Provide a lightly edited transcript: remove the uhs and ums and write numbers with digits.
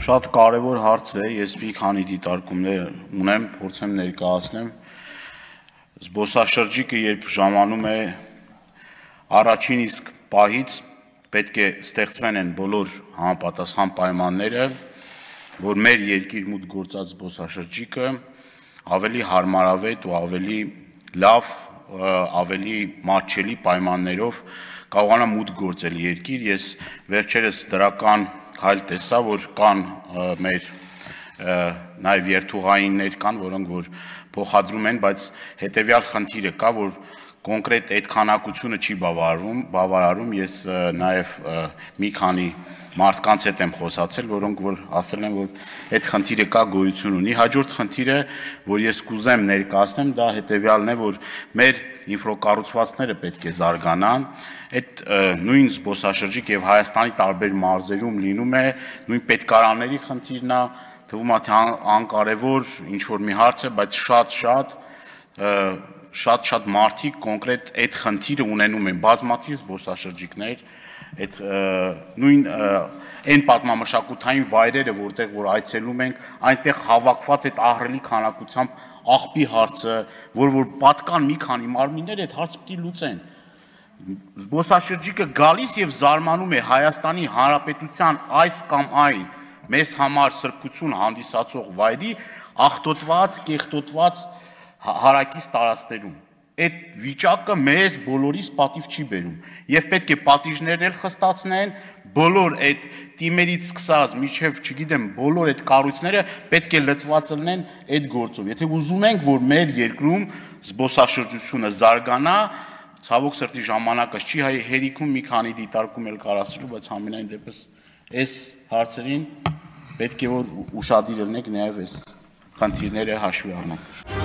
Շատ կարևոր հարց է, ես մի քանի դիտարկումներ ունեմ, փորձեմ ներկայացնեմ։ Զբոսաշրջիկը երբ ժամանում է առաջին իսկ պահից պետք է ստեղծվեն են բոլոր համապատասխան պայմանները, որ մեր երկիր մուտք գործած զբոսաշրջիկը ավելի հարմարավետ ու ավելի լավ, ավելի մատչելի պայմաններով կարողանա մուտք գործել երկիր։ Ես վերջերս դրական քայլ տեսա, որ կան մեր նաև երթուղայիններ կան, որոնք որ փոխադրում են, բայց հետևյալ խնդիրը կա, որ կոնկրետ այդ քանակությունը չի բավարարում, ես նաև մի քանի մարդկանց հետ եմ խոսացել, որոնք որ ասել են, որ այդ խնդիրը կա, գոյություն ունի։ Հաջորդ խնդիրը, որ ես կուզեմ ներկայացնեմ, դա հետևյալն է, որ մեր ինֆրակառուցվածքները պետք է զարգանան, այդ նույն զբոսաշրջիկ եւ Հայաստանի տարբեր մարզերում լինում է նույն պետքարանների խնդիրն է, թվում է թե անկարևոր ինչ որ մի հարց է, բայց շատ մարդիկ կոնկրետ այդ խնդիրը ունենում են, բազմաթիվ զբոսաշրջիկներ, այդ նույն այն պատմամշակութային վայրերը, որտեղ որ այցելում ենք, այնտեղ հավաքված այդ ահռելի քանակությամբ աղբի հարցը, որ պատկան մի քանի մարմիններ այդ հարցը պիտի լուծեն։ Զբոսաշրջիկը գալիս եւ զարմանում է Հայաստանի Հանրապետության այս կամ այն մեզ համար սրբություն հանդիսացող վայրի աղտոտված, կեղտոտված հարակից տարածքներում։ Այդ վիճակը մեզ բոլորիս պատիվ չի բերում եւ պետք է պատիժներն էլ խստացնեն, բոլոր այդ թիմերից սկսած միջև, չգիտեմ, բոլոր այդ կառույցները պետք է լծված լինեն այդ գործով։ Եթե ուզում ենք, որ մեր երկրում զբոսաշրջությունը զարգանա, ցավոք սրտի ժամանակը չի հերիքում մի քանի դիտարկում էլ կարասելու, բայց համենայն դեպս այս հարցերին պետք է որ ուշադիր լինենք, նաև այս խնդիրները հաշվի առնենք։